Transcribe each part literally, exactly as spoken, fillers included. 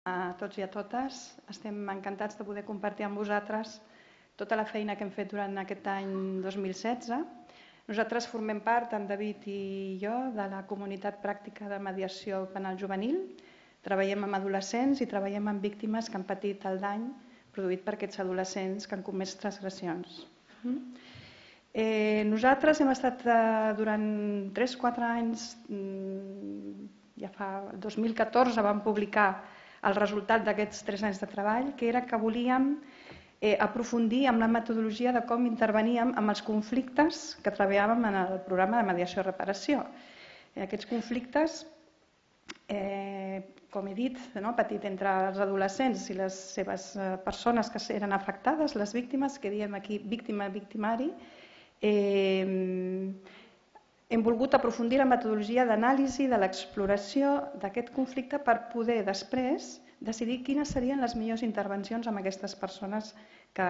A tots i a totes, estem encantats de poder compartir amb vosaltres tota la feina que hem fet durant aquest any dos mil setze. Nosaltres formem part, en David i jo, de la comunitat pràctica de mediació penal juvenil. Treballem amb adolescents i treballem amb víctimes que han patit el dany produït per aquests adolescents que han comès transgressions. Eh, nosaltres hem estat eh, durant tres quatre anys, ja fa el dos mil catorze vam publicar el resultat d'aquests tres anys de treball, que era que volíem eh, aprofundir en la metodologia de com interveníem amb els conflictes que treballàvem en el programa de mediació i reparació. Eh, aquests conflictes, eh, com he dit, no, petit entre els adolescents i les seves eh, persones que eren afectades, les víctimes, que diem aquí víctima-victimari, eh, hem volgut aprofundir la metodologia d'anàlisi de l'exploració d'aquest conflicte per poder després decidir quines serien les millors intervencions amb aquestes persones que,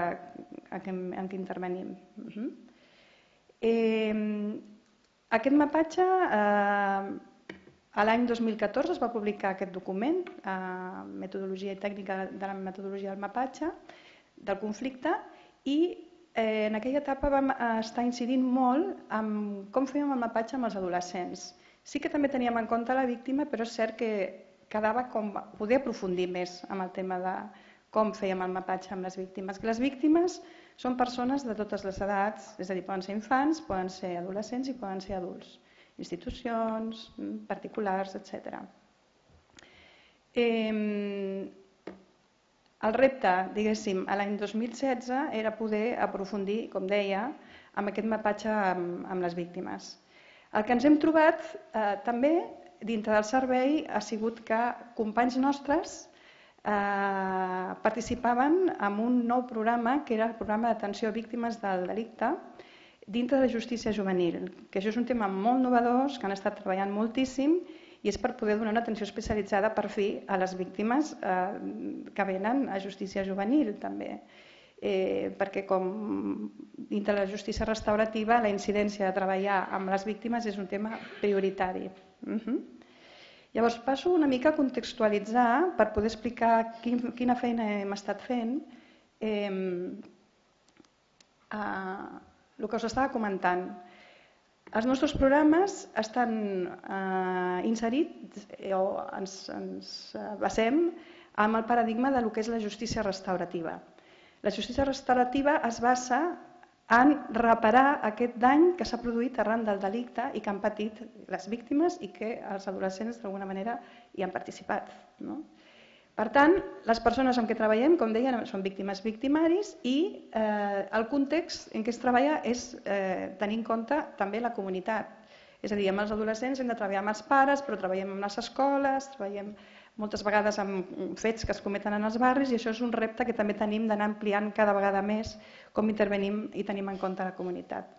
en què intervenim. Uh-huh. eh, aquest mapatge, eh, l'any dos mil catorze es va publicar aquest document, eh, metodologia i tècnica de la metodologia del mapatge, del conflicte, i en aquella etapa vam estar incidint molt en com fèiem el mapatge amb els adolescents. Sí que també teníem en compte la víctima, però és cert que quedava com poder aprofundir més en el tema de com fèiem el mapatge amb les víctimes. Les víctimes són persones de totes les edats, és a dir, poden ser infants, poden ser adolescents i poden ser adults, institucions, particulars, etcètera. Eh, El repte, diguéssim, a l'any dos mil setze era poder aprofundir, com deia, amb aquest mapatge amb, amb les víctimes. El que ens hem trobat eh, també dintre del servei ha sigut que companys nostres eh, participaven en un nou programa que era el programa d'atenció a víctimes del delicte dintre de justícia juvenil, que això és un tema molt innovador, que han estat treballant moltíssim i és per poder donar una atenció especialitzada per fi a les víctimes eh, que venen a justícia juvenil també. Eh, perquè com dintre de la justícia restaurativa la incidència de treballar amb les víctimes és un tema prioritari. Uh-huh. Llavors passo una mica a contextualitzar per poder explicar quin, quina feina hem estat fent. Eh, eh, el que us estava comentant. Els nostres programes estan eh, inserits o ens, ens basem en el paradigma de lo que és la justícia restaurativa. La justícia restaurativa es basa en reparar aquest dany que s'ha produït arran del delicte i que han patit les víctimes i que els adolescents d'alguna manera hi han participat. No? Per tant, les persones amb què treballem, com deia, són víctimes victimaris i eh, el context en què es treballa és eh, tenir en compte també la comunitat. És a dir, amb els adolescents hem de treballar amb els pares, però treballem amb les escoles, treballem moltes vegades amb fets que es cometen en els barris i això és un repte que també tenim d'anar ampliant cada vegada més com intervenim i tenim en compte la comunitat.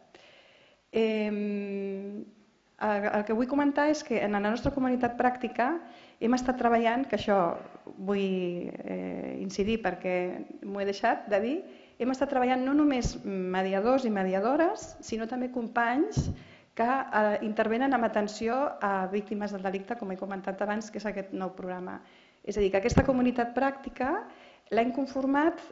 Eh, el que vull comentar és que en la nostra comunitat pràctica hem estat treballant, que això vull eh, incidir perquè m'ho he deixat de dir, hem estat treballant no només mediadors i mediadores, sinó també companys que eh, intervenen amb atenció a víctimes del delicte, com he comentat abans, que és aquest nou programa. És a dir, que aquesta comunitat pràctica l'hem conformat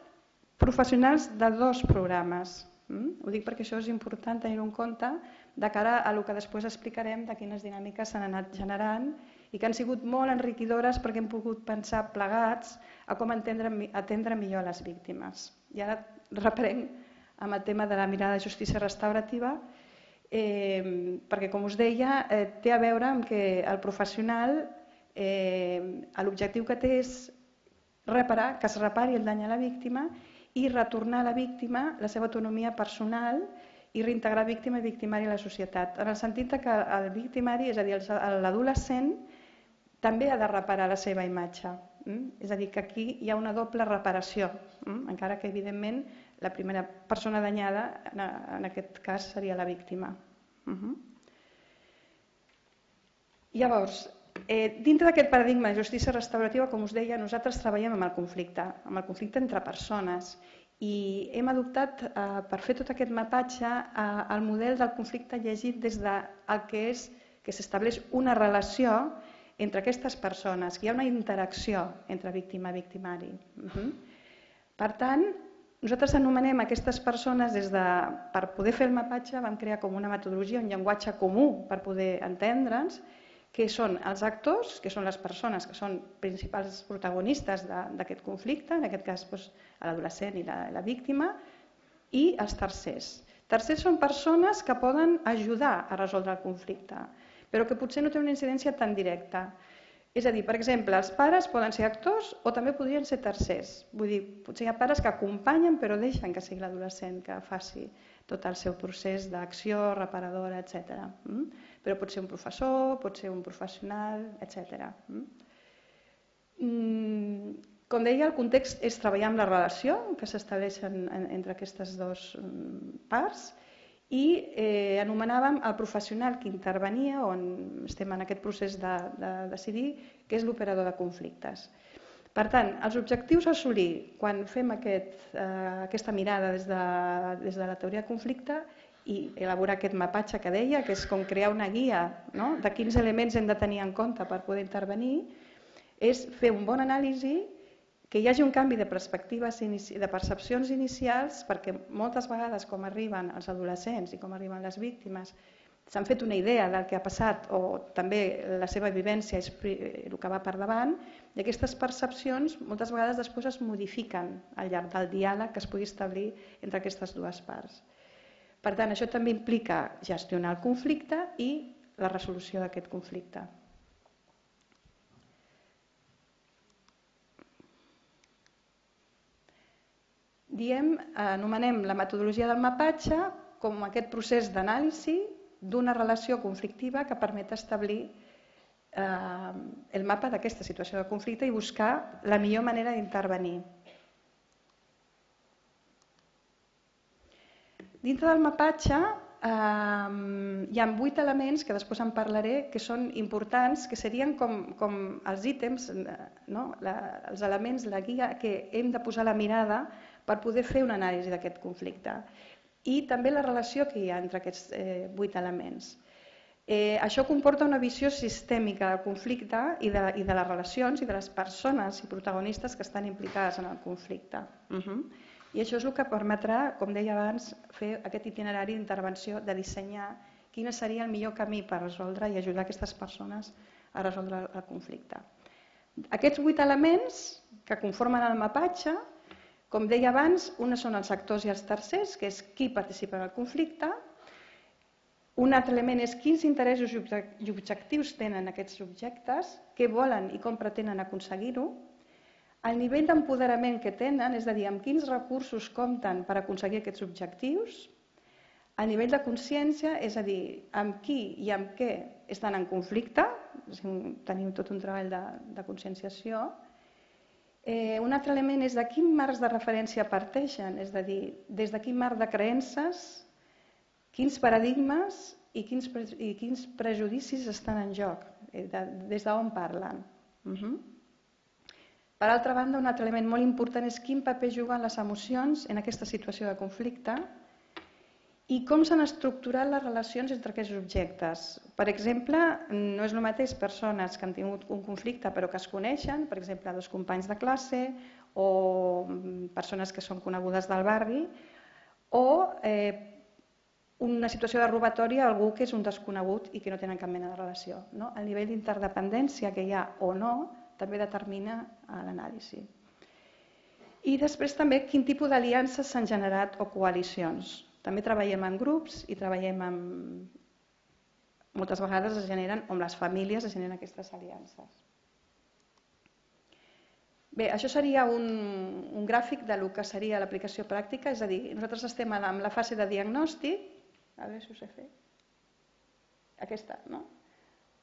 professionals de dos programes. Mm? Ho dic perquè això és important tenir-ho en compte de cara a el que després explicarem de quines dinàmiques s'han anat generant i que han sigut molt enriquidores perquè hem pogut pensar plegats a com atendre, atendre millor a les víctimes. I ara reprenc amb el tema de la mirada de justícia restaurativa, eh, perquè com us deia, eh, té a veure amb que el professional eh, l'objectiu que té és reparar, que es repari el dany a la víctima i retornar a la víctima la seva autonomia personal i reintegrar víctima i victimari a la societat. En el sentit que el victimari, és a dir, l'adolescent, també ha de reparar la seva imatge. És a dir, que aquí hi ha una doble reparació, encara que evidentment la primera persona danyada en aquest cas seria la víctima. Llavors, dintre d'aquest paradigma de justícia restaurativa, com us deia, nosaltres treballem amb el conflicte, amb el conflicte entre persones i hem adoptat per fer tot aquest mapatge el model del conflicte llegit des del que és que s'estableix una relació entre aquestes persones, que hi ha una interacció entre víctima i victimari. Per tant, nosaltres anomenem aquestes persones des de, per poder fer el mapatge, vam crear com una metodologia, un llenguatge comú per poder entendre'ns, que són els actors, que són les persones que són principals protagonistes d'aquest conflicte, en aquest cas l'adolescent i la víctima, i els tercers. Tercers són persones que poden ajudar a resoldre el conflicte, però que potser no té una incidència tan directa. És a dir, per exemple, els pares poden ser actors o també podrien ser tercers. Vull dir, potser hi ha pares que acompanyen però deixen que sigui l'adolescent que faci tot el seu procés d'acció, reparadora, etcètera. Però pot ser un professor, pot ser un professional, etcètera. Com deia, el context és treballar amb la relació que s'estableix entre aquestes dues parts i anomenàvem el professional que intervenia, on estem en aquest procés de decidir, que és l'operador de conflictes. Per tant, els objectius a assolir quan fem aquesta mirada des de la teoria de conflicte i elaborar aquest mapatge que deia, que és com crear una guia de quins elements hem de tenir en compte per poder intervenir, és fer un bon anàlisi, que hi hagi un canvi de perspectives, de percepcions inicials, perquè moltes vegades com arriben els adolescents i com arriben les víctimes s'han fet una idea del que ha passat o també la seva vivència és el que va per davant i aquestes percepcions moltes vegades després es modifiquen al llarg del diàleg que es pugui establir entre aquestes dues parts. Per tant, això també implica gestionar el conflicte i la resolució d'aquest conflicte. Diem, anomenem la metodologia del mapatge com aquest procés d'anàlisi d'una relació conflictiva que permet establir el mapa d'aquesta situació de conflicte i buscar la millor manera d'intervenir. Dintre del mapatge hi ha vuit elements que després en parlaré que són importants, que serien com els ítems, els elements, la guia que hem de posar la mirada per poder fer una anàlisi d'aquest conflicte i també la relació que hi ha entre aquests vuit elements. Això comporta una visió sistèmica del conflicte i de les relacions i de les persones i protagonistes que estan implicades en el conflicte. I això és el que permetrà, com deia abans, fer aquest itinerari d'intervenció, de dissenyar quin seria el millor camí per resoldre i ajudar aquestes persones a resoldre el conflicte. Aquests vuit elements que conformen el mapatge, com deia abans, uns són els actors i els tercers, que és qui participa en el conflicte. Un altre element és quins interessos i objectius tenen aquests subjectes, què volen i com pretenen aconseguir-ho. El nivell d'empoderament que tenen, és a dir, amb quins recursos compten per aconseguir aquests objectius. El nivell de consciència, és a dir, amb qui i amb què estan en conflicte, tenim tot un treball de conscienciació. Un altre element és de quin marcs de referència parteixen, és a dir, des de quin marc de creences, quins paradigmes i quins prejudicis estan en joc, des d'on parlen. Per altra banda, un altre element molt important és quin paper juguen les emocions en aquesta situació de conflicte i com s'han estructurat les relacions entre aquests objectes. Per exemple, no és el mateix persones que han tingut un conflicte però que es coneixen, per exemple, dos companys de classe o persones que són conegudes del barri, o una situació de robatori a algú que és un desconegut i que no tenen cap mena de relació. El nivell d'interdependència que hi ha o no també determina l'anàlisi. I després també quin tipus d'aliances s'han generat o coalicions. També treballem en grups i treballem amb... Moltes vegades es generen, amb les famílies es generen aquestes aliances. Bé, això seria un gràfic del que seria l'aplicació pràctica, és a dir, nosaltres estem en la fase de diagnòstic, a veure si ho sé fer, aquesta, no?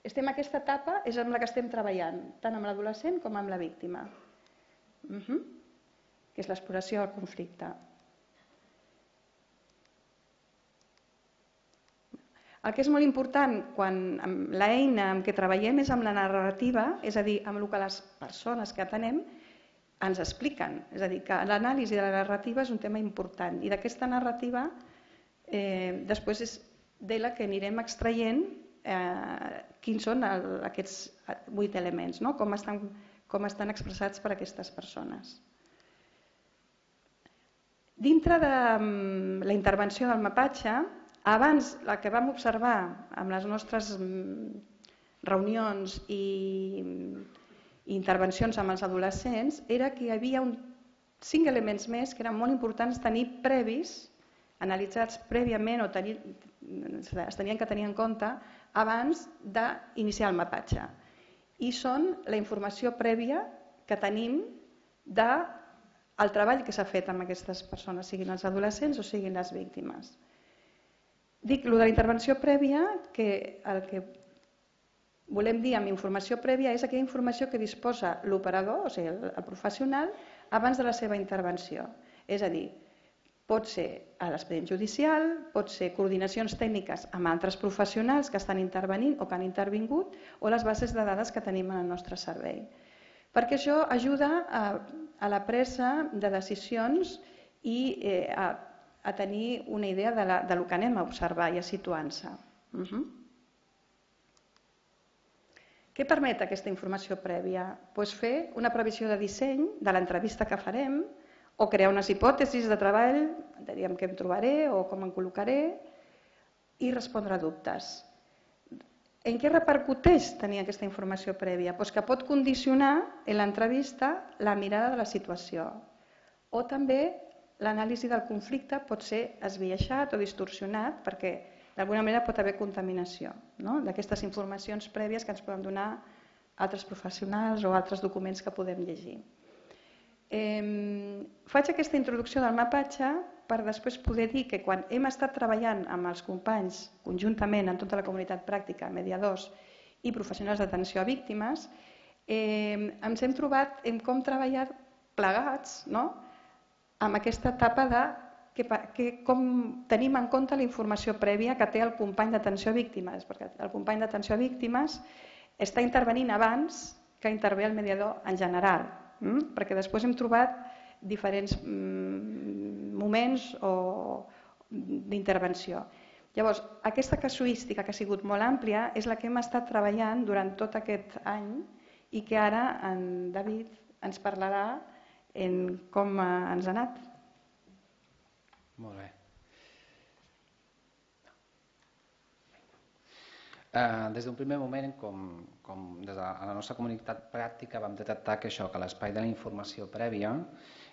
Estem en aquesta etapa, és amb la que estem treballant, tant amb l'adolescent com amb la víctima, que és l'exploració del conflicte. El que és molt important quan l'eina amb què treballem és amb la narrativa, és a dir, amb el que les persones que atenem ens expliquen. És a dir, que l'anàlisi de la narrativa és un tema important i d'aquesta narrativa després és de la que anirem extraient quins són aquests vuit elements, com estan expressats per aquestes persones. Dintre de la intervenció del mapatge, abans el que vam observar amb les nostres reunions i intervencions amb els adolescents era que hi havia cinc elements més que eren molt importants tenir previs, analitzats prèviament o es tenien que tenir en compte abans d'iniciar el mapatge. I són la informació prèvia que tenim del treball que s'ha fet amb aquestes persones, siguin els adolescents o siguin les víctimes. Dic el de la intervenció prèvia, que el que volem dir amb informació prèvia és aquella informació que disposa l'operador, o sigui, el professional, abans de la seva intervenció. És a dir, pot ser a l'expedient judicial, pot ser coordinacions tècniques amb altres professionals que estan intervenint o que han intervingut o les bases de dades que tenim en el nostre servei. Perquè això ajuda a la presa de decisions i a tenir una idea del que anem a observar i a situar-se. Què permet aquesta informació prèvia? Doncs fer una previsió de disseny de l'entrevista que farem o crear unes hipòtesis de treball, diríem què em trobaré o com em col·locaré, i respondre a dubtes. En què repercuteix tenir aquesta informació prèvia? Doncs que pot condicionar en l'entrevista la mirada de la situació. O també l'anàlisi del conflicte pot ser esbiaixat o distorsionat perquè d'alguna manera pot haver contaminació d'aquestes informacions prèvies que ens poden donar altres professionals o altres documents que podem llegir. Faig aquesta introducció del mapatge per després poder dir que quan hem estat treballant amb els companys conjuntament en tota la comunitat pràctica, mediadors i professionals d'atenció a víctimes, ens hem trobat en com treballar plegats amb aquesta etapa de com tenim en compte la informació prèvia que té el company d'atenció a víctimes, perquè el company d'atenció a víctimes està intervenint abans que intervé el mediador en general, perquè després hem trobat diferents moments d'intervenció. Llavors, aquesta casuística que ha sigut molt àmplia és la que hem estat treballant durant tot aquest any i que ara en David ens parlarà en com ens ha anat. Molt bé. Des d'un primer moment, com des de la nostra comunitat pràctica vam detectar que això, que l'espai de la informació prèvia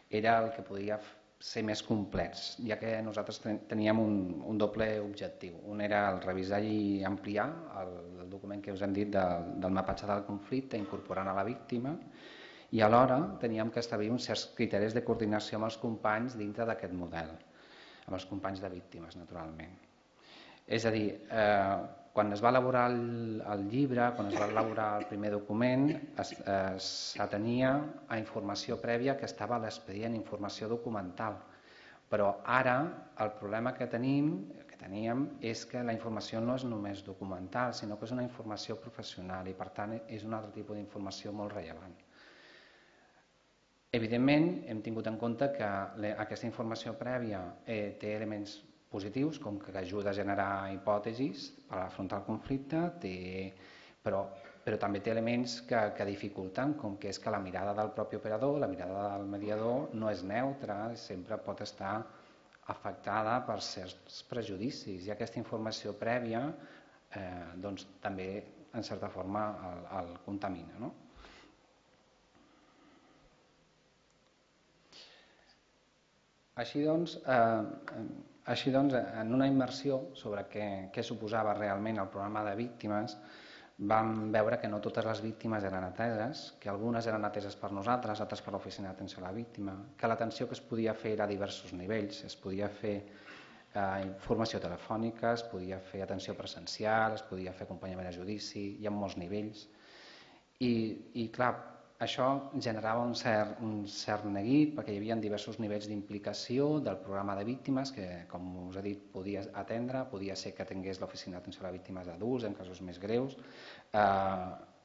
era el que podia ser més complex, ja que nosaltres teníem un doble objectiu. Un era el revisar i ampliar el document que us hem dit del mapatge del conflicte, incorporant a la víctima, i alhora teníem que establir uns certs criteris de coordinació amb els companys dintre d'aquest model, amb els companys de víctimes, naturalment. És a dir, quan es va elaborar el llibre, quan es va elaborar el primer document, s'atenia a informació prèvia que estava a l'expedient, informació documental. Però ara el problema que tenim, que teníem, és que la informació no és només documental, sinó que és una informació professional i, per tant, és un altre tipus d'informació molt rellevant. Evidentment, hem tingut en compte que aquesta informació prèvia té elements positius, com que ajuda a generar hipòtesis per afrontar el conflicte, però també té elements que dificulten, com que és que la mirada del propi operador, la mirada del mediador, no és neutra, sempre pot estar afectada per certs prejudicis, i aquesta informació prèvia també, en certa forma, el contamina. Així doncs, en una immersió sobre què suposava realment el programa de víctimes, vam veure que no totes les víctimes eren ateses, que algunes eren ateses per nosaltres, altres per l'Oficina d'Atenció a la Víctima, que l'atenció que es podia fer era a diversos nivells, es podia fer informació telefònica, es podia fer atenció presencial, es podia fer acompanyament a judici, hi ha molts nivells. I, clar, això generava un cert neguit perquè hi havia diversos nivells d'implicació del programa de víctimes que, com us he dit, podia atendre, podia ser que tingués l'Oficina d'Atenció a les Víctimes d'Adults en casos més greus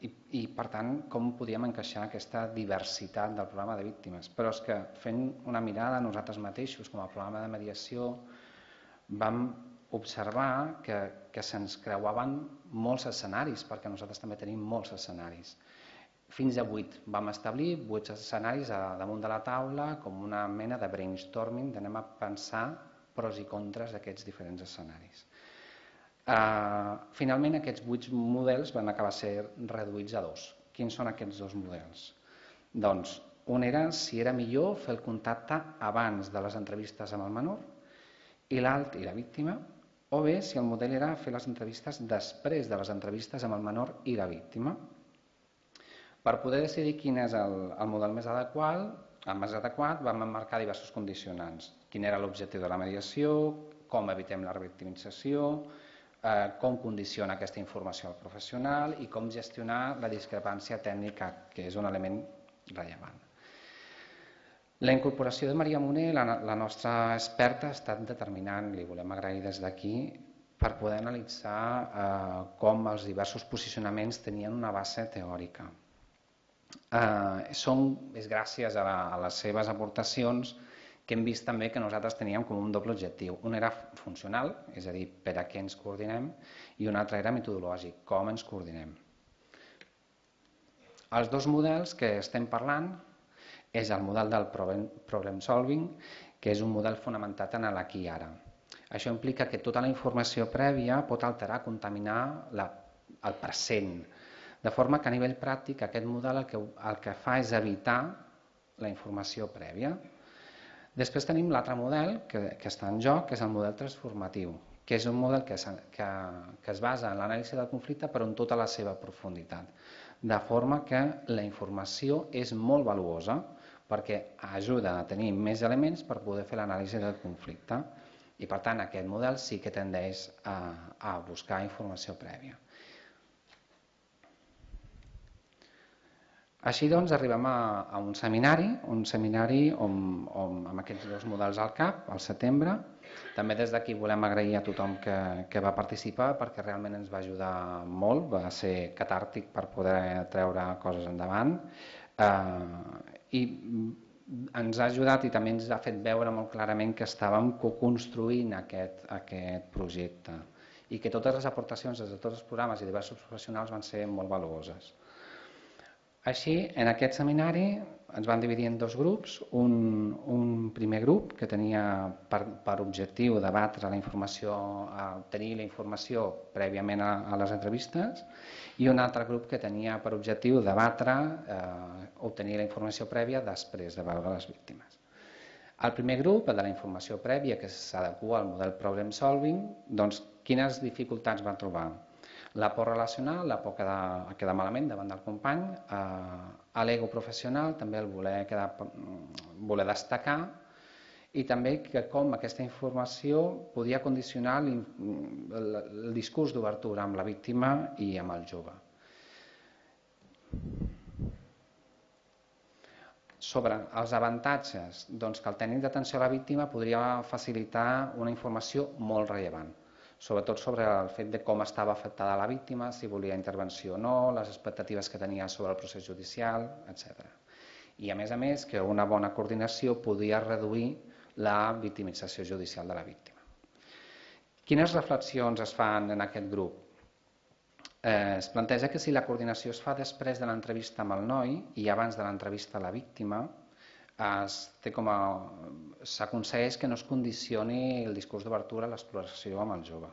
i, per tant, com podíem encaixar aquesta diversitat del programa de víctimes. Però és que fent una mirada a nosaltres mateixos com a programa de mediació vam observar que, que se'ns creuaven molts escenaris, perquè nosaltres també tenim molts escenaris. Fins a vuit. Vam establir vuit escenaris a damunt de la taula com una mena de brainstorming, d'anem a pensar pros i contres d'aquests diferents escenaris. Uh, finalment, aquests vuit models van acabar ser reduïts a dos. Quins són aquests dos models? Doncs, un era si era millor fer el contacte abans de les entrevistes amb el menor i l'altre, i la víctima, o bé si el model era fer les entrevistes després de les entrevistes amb el menor i la víctima. Per poder decidir quin és el, el model més adequat, el més adequat, vam emmarcar diversos condicionants. Quin era l'objectiu de la mediació, com evitem la revictimització, eh, com condiciona aquesta informació al professional i com gestionar la discrepància tècnica, que és un element rellevant. La incorporació de Maria Moner, la, la nostra experta, ha estat determinant, li volem agrair des d'aquí, per poder analitzar eh, com els diversos posicionaments tenien una base teòrica. Eh, són, és gràcies a, la, a les seves aportacions que hem vist també que nosaltres teníem com un doble objectiu. Un era funcional, és a dir, per a què ens coordinem, i un altre era metodològic, com ens coordinem. Els dos models que estem parlant és el model del problem solving, que és un model fonamentat en l'aquí i ara. Això implica que tota la informació prèvia pot alterar, contaminar la, el present, de forma que a nivell pràctic aquest model el que, el que fa és evitar la informació prèvia. Després tenim l'altre model que, que està en joc, que és el model transformatiu, que és un model que, que, que es basa en l'anàlisi del conflicte però en tota la seva profunditat, de forma que la informació és molt valuosa perquè ajuda a tenir més elements per poder fer l'anàlisi del conflicte i per tant aquest model sí que tendeix a, a buscar informació prèvia. Així doncs arribem a, a un seminari, un seminari on, on, amb aquests dos models al cap, al setembre. També des d'aquí volem agrair a tothom que, que va participar perquè realment ens va ajudar molt, va ser catàrtic per poder treure coses endavant. Eh, i ens ha ajudat i també ens ha fet veure molt clarament que estàvem co-construint aquest, aquest projecte i que totes les aportacions des de tots els programes i diversos professionals van ser molt valuoses. Així, en aquest seminari ens van dividir en dos grups, un, un primer grup que tenia per, per objectiu debatre la informació, obtenir la informació prèviament a, a les entrevistes i un altre grup que tenia per objectiu debatre, eh, obtenir la informació prèvia després de veure les víctimes. El primer grup, el de la informació prèvia, que s'adequa al model problem solving, doncs quines dificultats va trobar? La por relacional, la por quedar, quedar malament davant del company, eh, l'ego professional, també el voler, quedar, voler destacar, i també que com aquesta informació podia condicionar el, el, el discurs d'obertura amb la víctima i amb el jove. Sobre els avantatges, doncs que el tècnic d'atenció a la víctima podria facilitar una informació molt rellevant, sobretot sobre el fet de com estava afectada la víctima, si volia intervenció o no, les expectatives que tenia sobre el procés judicial, etcètera. I a més a més que una bona coordinació podia reduir la victimització judicial de la víctima. Quines reflexions es fan en aquest grup? Eh, es planteja que si la coordinació es fa després de l'entrevista amb el noi i abans de l'entrevista a la víctima, s'aconsegueix que no es condicioni el discurs d'obertura a l'exploració amb el jove.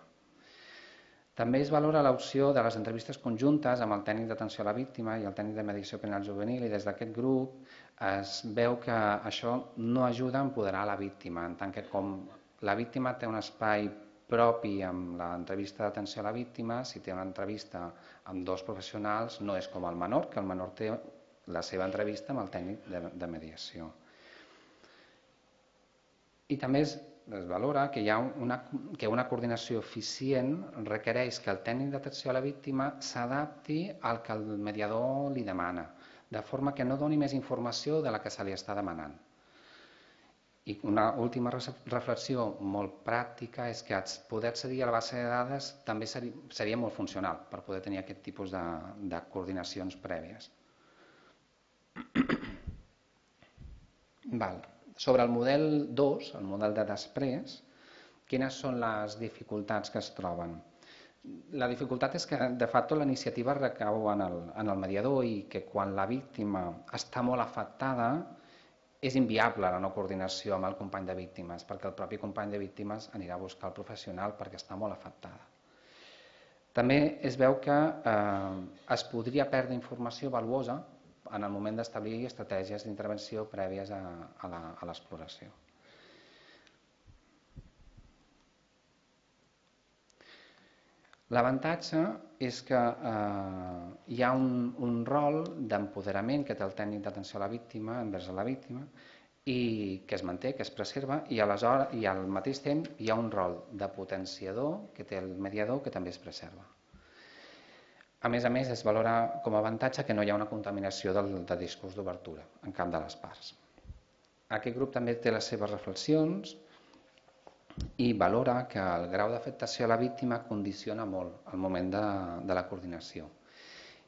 També es valora l'opció de les entrevistes conjuntes amb el tècnic d'atenció a la víctima i el tècnic de mediació penal juvenil, i des d'aquest grup es veu que això no ajuda a empoderar la víctima, en tant que com la víctima té un espai propi amb l'entrevista d'atenció a la víctima, si té una entrevista amb dos professionals no és com el menor, que el menor té la seva entrevista amb el tècnic de, de mediació. I també es, es valora que, hi ha una, que una coordinació eficient requereix que el tècnic d'atenció a la víctima s'adapti al que el mediador li demana, de forma que no doni més informació de la que se li està demanant. I una última reflexió molt pràctica és que poder accedir a la base de dades també seria, seria molt funcional per poder tenir aquest tipus de, de coordinacions prèvies. Val. Sobre el model dos, el model de després, Quines són les dificultats que es troben? La dificultat és que, de facto, la iniciativa recau en el, en el mediador i que quan la víctima està molt afectada és inviable la no coordinació amb el company de víctimes, perquè el propi company de víctimes anirà a buscar el professional perquè està molt afectada. També es veu que eh, es podria perdre informació valuosa en el moment d'establir estratègies d'intervenció prèvies a, a l'exploració. L'avantatge és que eh, hi ha un, un rol d'empoderament que té el tècnic d'atenció a la víctima envers a la víctima i que es manté, que es preserva, i aleshores i al mateix temps hi ha un rol de potenciador que té el mediador que també es preserva. A més a més, es valora com a avantatge que no hi ha una contaminació del, del discurs d'obertura en cap de les parts. Aquest grup també té les seves reflexions i valora que el grau d'afectació a la víctima condiciona molt el moment de, de la coordinació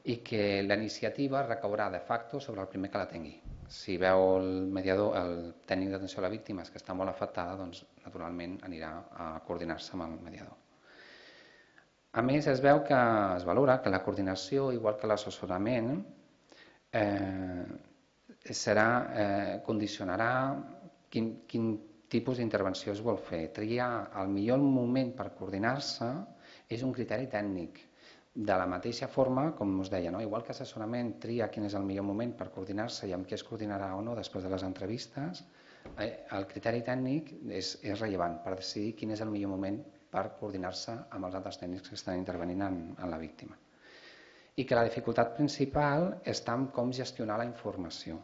i que la iniciativa recaurà de facto sobre el primer que la tingui. Si veu el mediador, el tècnic d'atenció a la víctima que està molt afectada, doncs naturalment anirà a coordinar-se amb el mediador. A més, es veu que es valora que la coordinació, igual que l'assessorament, eh, serà, eh, condicionarà quin, quin tipus d'intervenció es vol fer. Triar el millor moment per coordinar-se és un criteri tècnic. De la mateixa forma, com us deia, no? Igual que assessorament tria quin és el millor moment per coordinar-se i amb què es coordinarà o no després de les entrevistes, eh, el criteri tècnic és, és rellevant per decidir quin és el millor moment per coordinar-se amb els altres tècnics que estan intervenint en, en la víctima. I que la dificultat principal està en com gestionar la informació.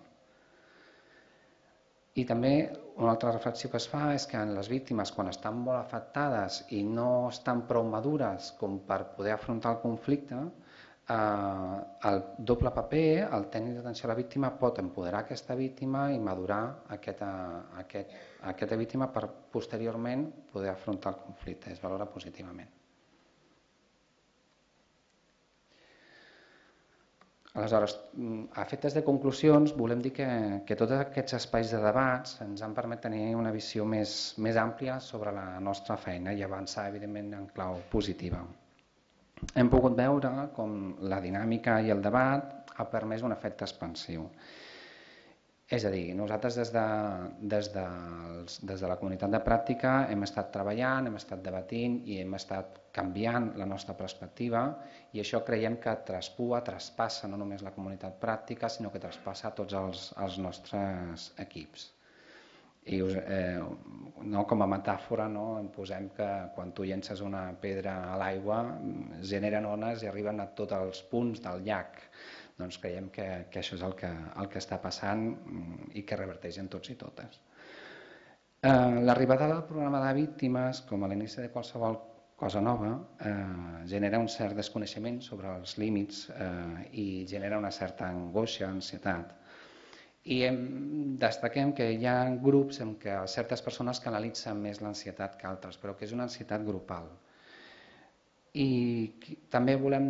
I també una altra reflexió que es fa és que en les víctimes, quan estan molt afectades i no estan prou madures com per poder afrontar el conflicte, eh, el doble paper, el tècnic d'atenció a la víctima pot empoderar aquesta víctima i madurar aquesta, aquest, aquesta víctima per posteriorment poder afrontar el conflicte. Es valora positivament. Aleshores, a efectes de conclusions, volem dir que, que tots aquests espais de debats ens han permès tenir una visió més, més àmplia sobre la nostra feina i avançar, evidentment, en clau positiva. Hem pogut veure com la dinàmica i el debat ha permès un efecte expansiu. És a dir, nosaltres des de, des, de, des de la comunitat de pràctica hem estat treballant, hem estat debatint i hem estat canviant la nostra perspectiva i això creiem que traspua, traspassa no només la comunitat pràctica, sinó que traspassa tots els, els nostres equips. I us, eh, no, com a metàfora no, em posem que quan tu llences una pedra a l'aigua generen ones i arriben a tots els punts del llac. Doncs creiem que, que això és el que, el que està passant i que reverteix en tots i totes. Eh, L'arribada del programa de víctimes, com a l'inici de qualsevol cosa nova, eh, genera un cert desconeixement sobre els límits eh, i genera una certa angoixa, ansietat. I hem, destaquem que hi ha grups en què certes persones canalitzen més l'ansietat que altres, però que és una ansietat grupal. I també volem,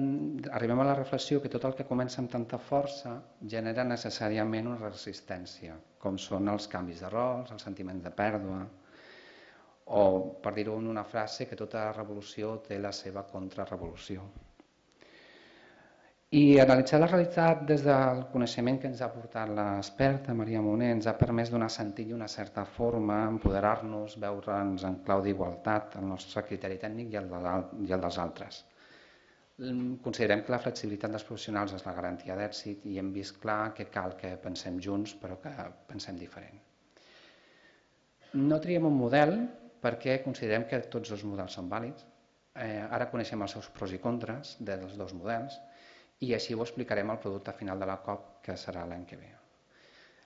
arribem a la reflexió que tot el que comença amb tanta força genera necessàriament una resistència, com són els canvis de rols, els sentiments de pèrdua, o, per dir-ho en una frase, que tota revolució té la seva contrarrevolució. I analitzar la realitat des del coneixement que ens ha portat l'experta Maria Moner ens ha permès donar sentit i una certa forma, empoderar-nos, veure'ns en clau d'igualtat, el nostre criteri tècnic i el, de, i el dels altres. Considerem que la flexibilitat dels professionals és la garantia d'èxit i hem vist clar que cal que pensem junts però que pensem diferent. No triem un model perquè considerem que tots els models són vàlids. Eh, ara coneixem els seus pros i contres dels dos models i així ho explicarem al producte final de la C O P, que serà l'any que ve.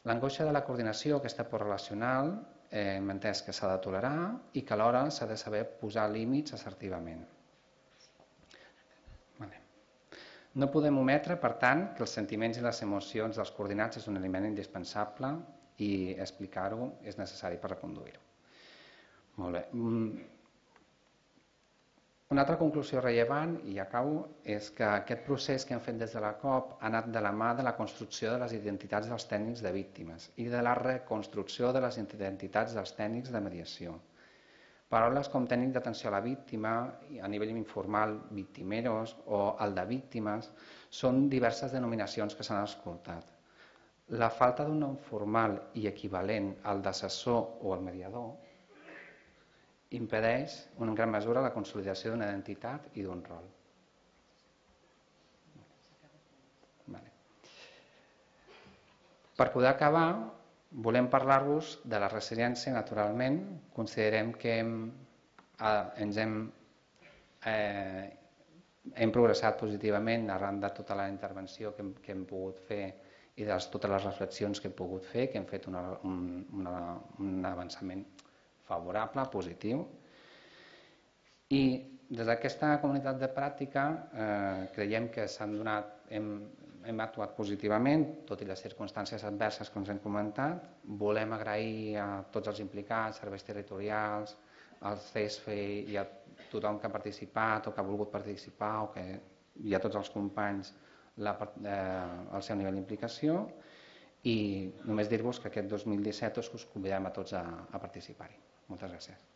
L'angoixa de la coordinació, aquesta por relacional, eh, hem entès que s'ha de tolerar i que alhora s'ha de saber posar límits assertivament. Vale. No podem ometre, per tant, que els sentiments i les emocions dels coordinats és un element indispensable i explicar-ho és necessari per reconduir-ho. Molt bé. Una altra conclusió rellevant, i acabo, és que aquest procés que hem fet des de la C O P ha anat de la mà de la construcció de les identitats dels tècnics de víctimes i de la reconstrucció de les identitats dels tècnics de mediació. Paraules com tècnic d'atenció a la víctima, a nivell informal, victimeros o el de víctimes, són diverses denominacions que s'han escoltat. La falta d'un nom formal i equivalent al d'assessor o al mediador impedeix en gran mesura la consolidació d'una identitat i d'un rol. Per poder acabar, volem parlar-vos de la resiliència. Naturalment, considerem que hem, ens hem, eh, hem progressat positivament arran de tota la intervenció que hem, que hem pogut fer i de totes les reflexions que hem pogut fer, que hem fet una, un, una, un avançament favorable, positiu. I des d'aquesta comunitat de pràctica eh, creiem que s'han donat, hem, hem actuat positivament, tot i les circumstàncies adverses que ens hem comentat. Volem agrair a tots els implicats, serveis territorials, al C E S F E i a tothom que ha participat o que ha volgut participar o que, i a tots els companys la, eh, el seu nivell d'implicació, i només dir-vos que aquest dos mil disset us convidem a tots a, a participar-hi. Moltes gràcies.